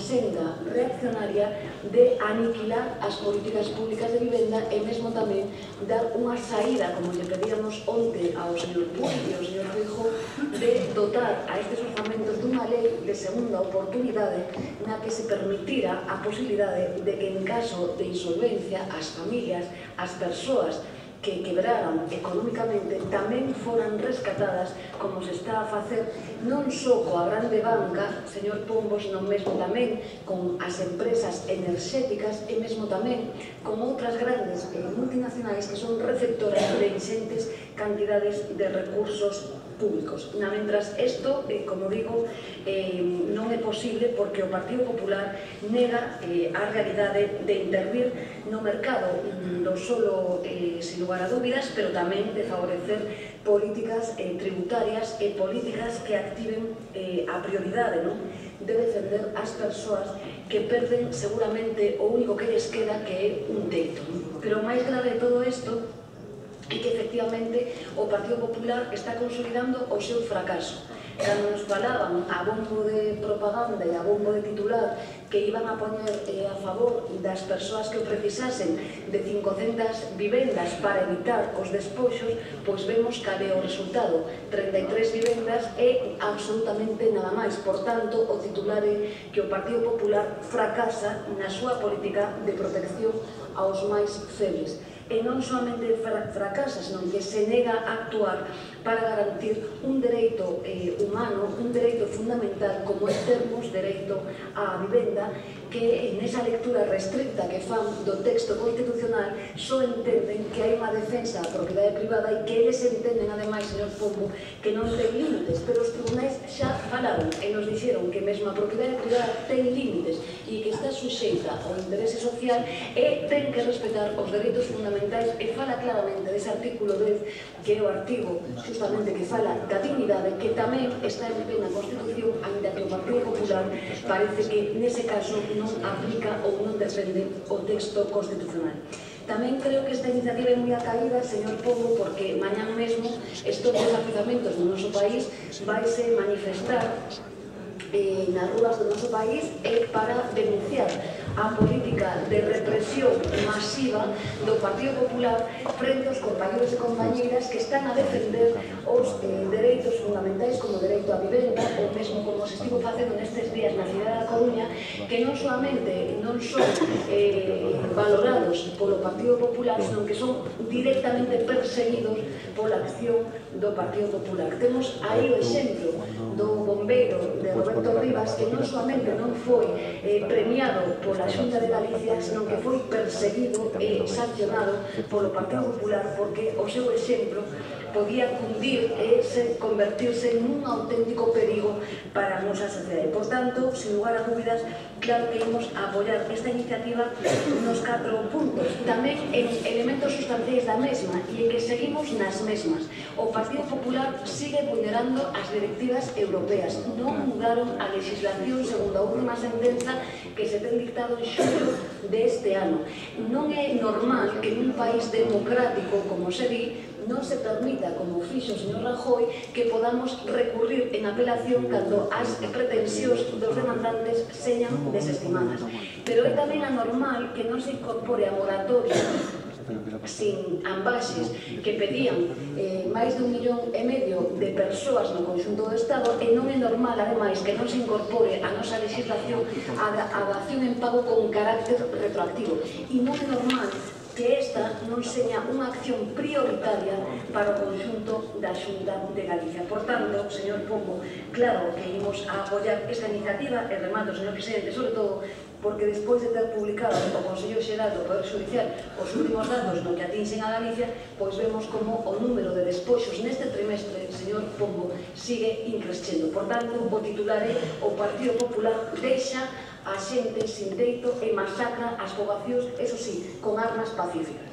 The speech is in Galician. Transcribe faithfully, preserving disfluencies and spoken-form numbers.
senda reaccionaria de aniquilar as políticas públicas de vivenda e mesmo tamén dar unha saída, como lle pedíamos onte ao señor Puig e ao señor Feijóo, de dotar a estes orzamentos dunha lei de segunda oportunidade na que se permitira a posibilidade de que en caso de insolvencia as familias, as persoas que quebraran económicamente tamén foran rescatadas como se está a facer non só coa grande banca, señor Pombo, senón mesmo tamén con as empresas enerxéticas e mesmo tamén con outras grandes multinacionais que son receptoras de inxentes cantidades de recursos públicos. Na mentras isto, eh, como digo, eh, non é posible porque o Partido Popular nega eh, a realidade de intervir no mercado non solo eh, sin lugar a dúbidas, pero tamén de favorecer políticas eh, tributarias e políticas que activen eh, a prioridade, non? De defender as persoas que perden seguramente o único que lles queda, que é un teito. Pero o máis grave de todo isto é que efectivamente o Partido Popular está consolidando o seu fracaso. Cando nos falaban a bombo de propaganda e a bombo de titular que iban a poñer eh, a favor das persoas que o precisasen de cincocentas vivendas para evitar os despoxos, pois vemos cal é o resultado. treinta e tres vivendas é absolutamente nada máis. Por tanto, o titular é que o Partido Popular fracasa na súa política de protección aos máis febles. E non solamente fracasa, senón que se nega a actuar para garantir un dereito eh, humano, un dereito fundamental como é termos dereito á vivenda, que nesa lectura restricta que fan do texto constitucional só entenden que hai unha defensa da propiedade privada e que eles entenden, ademais, señor Pombo, que non ten límites, pero os tribunais xa falaron e nos dixeron que mesmo a propiedade privada ten límites e que está suxeita ao interese social e ten que respetar os dereitos fundamentais, e fala claramente dese artículo dez, que é o artigo justamente que fala da dignidade, que tamén está en plena Constitución, ainda que o Partido Popular parece que nese caso non aplica ou non defende o texto constitucional. Tamén creo que esta iniciativa é moi acaída, señor Pombo, porque mañán mesmo estes desafiuzamentos no noso país vaise manifestar eh, nas rúas do noso país e para denunciar a política de represión masiva do Partido Popular frente aos compañeros e compañeiras que están a defender os eh, dereitos fundamentais como o dereito á vivenda, ou mesmo como se estivo facendo nestes días na cidade da Coruña, que non solamente non son eh, valorados polo Partido Popular, senón que son directamente perseguidos pola acción do Partido Popular. Temos aí o exemplo do bombeiro de Roberto Rivas, que non solamente non foi eh, premiado pola Xunta de Galicia, senón que foi perseguido e sancionado polo Partido Popular porque o seu exemplo podía cundir e se convertirse nun auténtico perigo para a nosa sociedade. Por tanto, sin lugar a dúbidas, claro que imos a apoiar esta iniciativa nos catro puntos, tamén en elementos sustanciais da mesma, e en que seguimos nas mesmas. O Partido Popular sigue vulnerando as directivas europeas, non mudaron a legislación segundo a última sentenza que se ten dictado en xullo deste ano. Non é normal que nun país democrático, como se di, non se permita, como fixo o señor Rajoy, que podamos recurrir en apelación cando as pretensións dos demandantes señan desestimadas. Pero é tamén anormal que non se incorpore a moratoria sin ambaxes que pedían eh, máis de un millón e medio de persoas no conxunto do Estado, e non é normal, ademais, que non se incorpore a nosa legislación a, a dación en pago con carácter retroactivo. E non é normal que esta non seña unha acción prioritaria para o conxunto da Xunta de Galicia. Por tanto, señor Pombo, claro que imos a apoiar esta iniciativa, e remato, señor Presidente, sobre todo porque despois de ter publicado o Consello Xeral do Poder Xudicial os últimos datos no que atinxen a Galicia, pois vemos como o número de despoxos neste trimestre, señor Pombo, sigue increscendo. Por tanto, o titular é: o Partido Popular deixa a xente sin teito e masacra as poboacións, eso sí, con armas pacíficas.